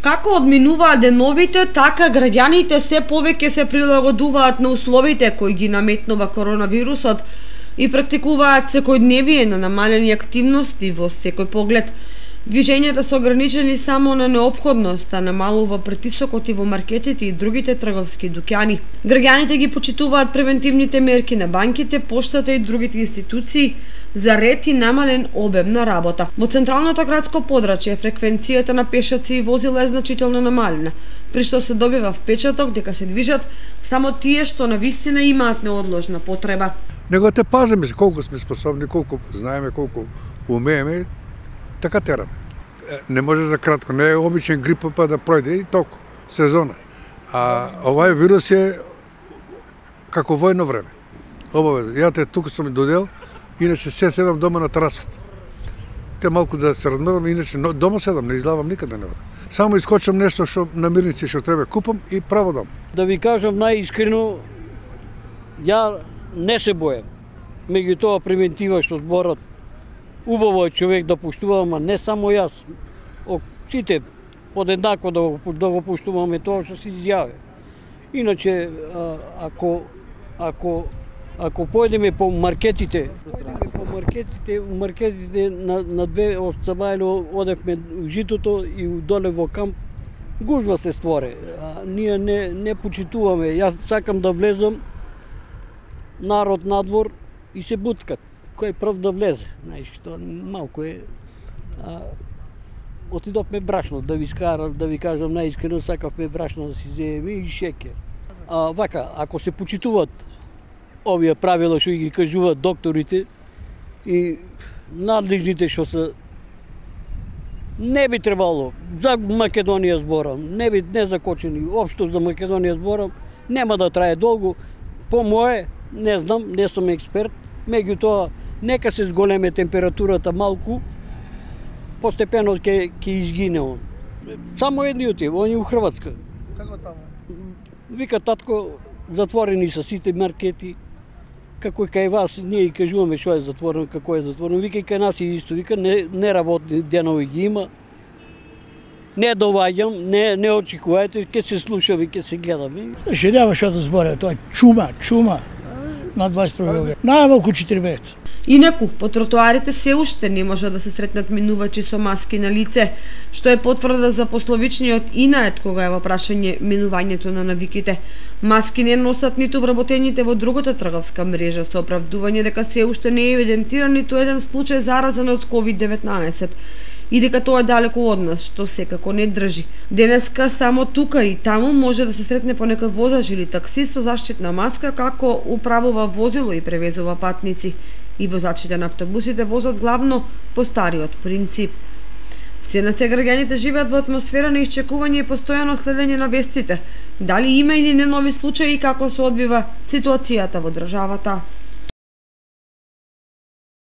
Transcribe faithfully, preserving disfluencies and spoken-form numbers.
Како одминуваат деновите, така граѓаните се повеќе се прилагодуваат на условите кои ги наметнува коронавирусот и практикуваат секојдневие на намалени активности во секој поглед. Движењата се ограничени само на неопходност, а намалува притисокот и во маркетите и другите трговски дуќани. Граѓаните ги почитуваат превентивните мерки на банките, поштата и другите институции за ред и намален обем на работа. Во централното градско подрачје фреквенцијата на пешаци и возила е значително намалена, при што се добива впечаток дека се движат само тие што навистина имаат неодложна потреба. Него те пазиме колку сме способни, колку знаеме, колку умееме, така терам. Не може за кратко, не е обичен грип па да пројде и толку, сезона. А овај вирус е како војно време. Обавезно. Ја те тука сум додел, иначе се седам дома на терасата. Те малку да се размерам, иначе дома седам, не излавам никаде не одам. Само искочам нешто што на мирници што треба купам и право дом. Да ви кажам најискрено, ја не се бојам. Меѓутоа превентива што зборат, убаво е човек да поштува, ама не само јас. Сите подеднакво да го, да го поштуваме тоа што се изјави. Иначе, ако, ако, ако појдеме по маркетите, по маркетите, маркетите на, на две од Цабајло одевме у Житото и доле во камп, гужва се створе. А, ние не, не почитуваме. Јас сакам да влезам, народ надвор и се буткат. Кој прв да влезе, знаеш, што малку е. А, отидовме брашно, да ви скарам, да ви кажам најискрено, сакавме брашно да си земеме и шеќер. А вака, ако се почитуваат овие правила што ги кажуваат докторите и надлежните што се, не би требало, за Македонија зборам, не би не закочени, општо за Македонија зборам, нема да трае долго. По мое, не знам, не сум експерт, меѓутоа нека се зголеме температурата малку, постепено ќе ќе изгине он. Само едниот е, он е у Хрватска. Како таму? Вика татко, затворени се сите маркети. Како и кај вас, ние и кажуваме што е затворено, како е затворено. Вика и кај нас и исто, вика не, не работни денови ги има. Не доваѓам, не, не очекувајте, ќе се слушаме, ќе се гледаме. Ше нема што да зборе, тоа е чума, чума на дваесет и први век. Најмалку четири месеца. Инаку, по тротоарите се уште не може да се сретнат минувачи со маски на лице, што е потврда за пословичниот инает кога е во прашање минувањето на навиките. Маски не носат ниту вработените во другата трговска мрежа со оправдување дека се уште не е евидентиран ниту еден случај заразен од ковид деветнаесет и дека тоа е далеку од нас, што секако не држи. Денеска само тука и таму може да се сретне по некој возач или таксист со заштитна маска како управува возило и превезува патници. И возачите на автобусите возат главно по стариот принцип. Се на се граѓаните живеат во атмосфера на исчекување и постојано следење на вестите. Дали има или не нови случаи и како се одбива ситуацијата во државата?